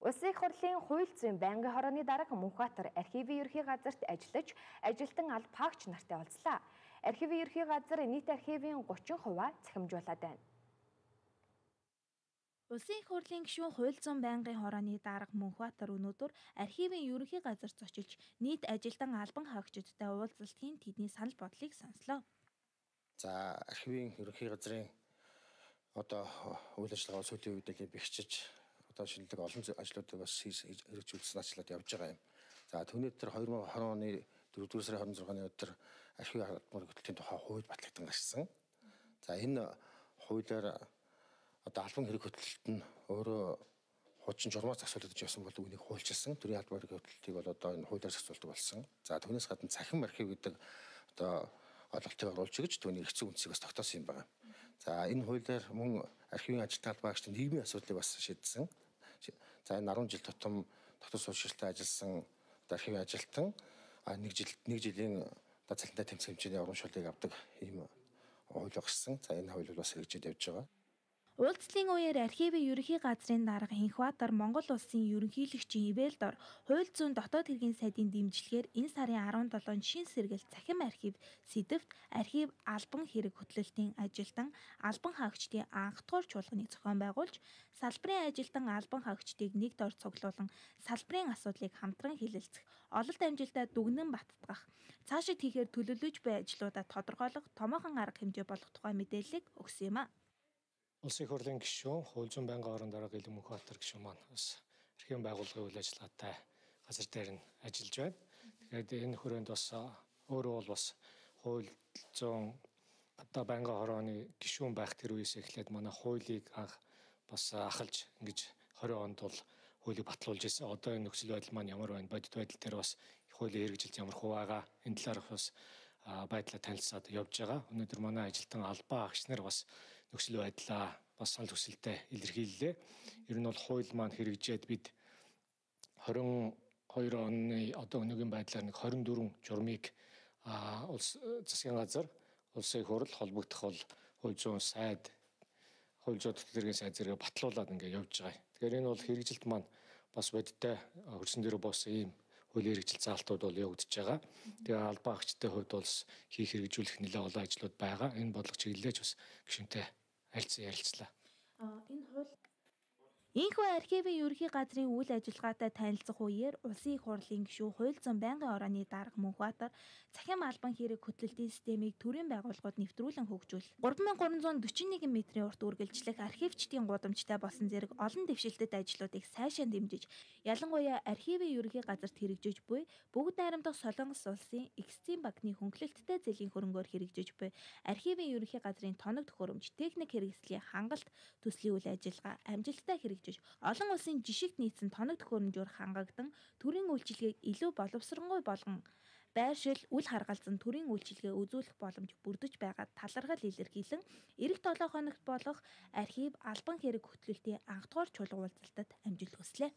Улсын их хурлын хууль зүйн байнгын хорооны дарга Мөнхбаатар архивын ерхий газарт ажиллаж, ажилтан алба хаагч нартай уулзлаа. Архивын ерхий газар нийт архивын 30% цахимжуулаад байна. Улсын их хурлын гишүүн хууль зүйн байнгын хорооны дарга Мөнхбаатар өнөөдөр архивын ерөнхий газарт зочилж нийт ажилтан албан хаагчдтай уулзалтын тэдний санал бодлыг сонслоо. За архивын ерөнхий газрын үйл ажиллагаа сүүлийн үед л бэхжиж шинэлэг олон ажлуудыг бас хэрэгжүүлсэн ажлууд явж байгаа юм. За түүний дээр 2020 оны 4-р сарын 26-ны өдөр архив албан хөтөлбөрийн тухай хууль батлагдсан гарсан. За энэ хуулиар албан хэрэг хөтөлбөрт нь өөрөө хуучин журмаар зохицуулагдж явсан бол үүнийг хуульчилсан. Төрийн албан хэрэг хөтөлбөрийг бол энэ хуулиар зохицуулдаг болсон. За түүнээс гадна цахим архив гэдэг ойлголтыг оруулж өгч түүний эрх зүйн үндсийг бас тогтоосон юм байна. За энэ хуулиар мөн архивын ажилтны албаагчдын нийгмийн асуудлыг бас шийдсэн. За энэ 10 жил тутам дотор суурьшилтай ажилласан архивын ажилтан нэг жилийн цалинтай тэмцэх хэмжээний урамшууллыг авдаг ийм хууль гарсан. За энэ хууль бас хэрэгжиж явж байгаа. Уулзлын үеэр архивын ерөнхий газрын дарга Мөнхбаатар Монгол улсын ерөнхийлөгчийн ивэлдор хууль зүйн дотоод хэргийн сайдын дэмжлэгээр энэ сарын 17-нд шин сэргэлт цахим архив сэдэвт архив албан хэрэг хөтлөлтийн ажилтан албан хаагчдын анх дугаар чуулганыг зохион байгуулж, салбарын ажилтан албан хаагчдыг нэг дор цуглуулan салбарын асуудлыг хамтран хэлэлцэх, ололт амжилтаа дүгнэн баттгах, цаашид хийхээр төлөвлөж буй ажлуудаа тодорхойлох томоохон арга хэмжээ болох тухай мэдээллийг өгсөн юм а. Улсын их хурлын гишүүн хууль зүйн байнгын хорооны дарга Мөнхбаатар гишүүн маань бас архивын байгууллагын үйл ажиллагаатай газар дээр нь ажиллаж байна. Тэгэхээр энэ хүрээнд бас өөрөө бол бас хууль зүйн байнгын хорооны гишүүн байх тэр үеэс эхлээд манай хуулийг анх бас ахалж ингэж 20 онд бол хуулийг батлуулж ирсэн. Одоо энэ нөхцөл байдал маань ямар байна? Бодит байдал дээр бас хуулийн хэрэгжилт ямар хувь байгаа? Энэ талаарх бас байдлаа танилцаад явж байгаа. Өнөөдөр манай ажилтан албан хаагч нар бас нөхцөл байдлаа бас санал хүсэлтэд илэрхийллээ. Ер нь бол хууль маань хэрэгжээд бид 22 оны өнөөгийн байдлаар нэг 24 журмыг улс засгийн газар, улсын их хурл холбогдох бол хууль зүйн сайд, хууль зүйн төтөлбөрийн сайд зэрэг батлуулаад ингээд явж байгаа. Тэгэхээр энэ бол хэрэгжилт маань бас бодиттой хөрсөн дээр боссон ийм хуулийн хэрэгжил заалтууд бол явагдаж байгаа. Тэгээ албан хаагчдын хувьд бол хийх хэрэгжүүлэх нэлээд олон ажлууд байгаа. Энэ бодлого чиглэлж бас гишүүнтэй ярилцлаа. Ийхүү архивын ерөнхий газрын үйл ажиллагаатай танилцах үеэр улсын их хурлын гишүүн хууль зүйн байнгын хорооны дарга Мөнхбаатар цахим албан хэрэг хөтлөлтийн системийг төрийн байгууллагууд нэвтрүүлэн хөгжүүл 3341 м-ийн урт үргэлжлэх архивчдын гудамжтай болсон зэрэг олон дэвшилтэт ажлуудыг сайшаа дэмжиж, ялангуяа архивын ерөнхий газарт хэрэгжиж буй бүгд найрамдах Солонгос улсын Эксцийн банкны хөнгөлөлттэй зэлийн хөрөнгөөр хэрэгжиж буй архивын ерөнхий газрын тоног төхөөрөмж, техник хэрэгслийн хангалт төслийн үйл ажиллагаа амжилттай хэрэгжиж олон улсын жишигт нийцсэн тоног төхөөрөмжөөр хангагдан төрийн үйлчилгээг илүү боловсронгуй болгон байршил үл харгалзан төрийн үйлчилгээ үзүүлэх боломж бүрдэж байгаад талархал илэрхийлэн эх 7 хоногт болох архив албан хэрэг хөтлөлтийн анх дугаар чуулга уулзалтад амжилт хүслээ.